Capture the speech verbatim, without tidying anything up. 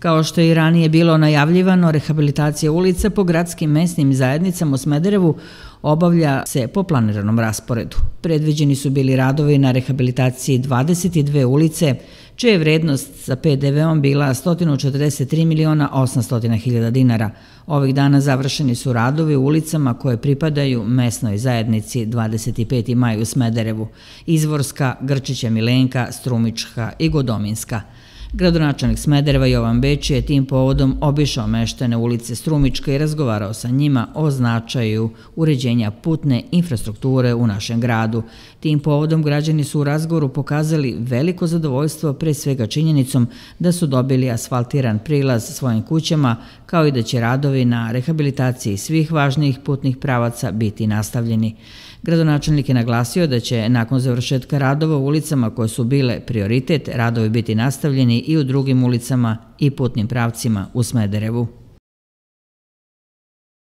Kao što je i ranije bilo najavljivano, rehabilitacija ulica po gradskim mesnim zajednicama u Smederevu obavlja se po planiranom rasporedu. Predviđeni su bili radovi na rehabilitaciji dvadeset dve ulice, čija je vrednost sa pe de veom bila sto četrdeset tri miliona osamsto hiljada dinara. Ovih dana završeni su radovi u ulicama koje pripadaju mesnoj zajednici dvadeset peti maj u Smederevu: Izvorska, Grčića Milenka, Strumička i Godominska. Gradonačelnik Smedereva Jovan Bečić je tim povodom obišao meštane ulice Strumička i razgovarao sa njima o značaju uređenja putne infrastrukture u našem gradu. Tim povodom građani su u razgovoru pokazali veliko zadovoljstvo, pre svega činjenicom da su dobili asfaltiran prilaz svojim kućama, kao i da će radovi na rehabilitaciji svih važnijih putnih pravaca biti nastavljeni. Gradonačelnik je naglasio da će nakon završetka radova u ulicama koje su bile prioritet, radovi biti nastavljeni i u drugim ulicama i putnim pravcima u Smederevu.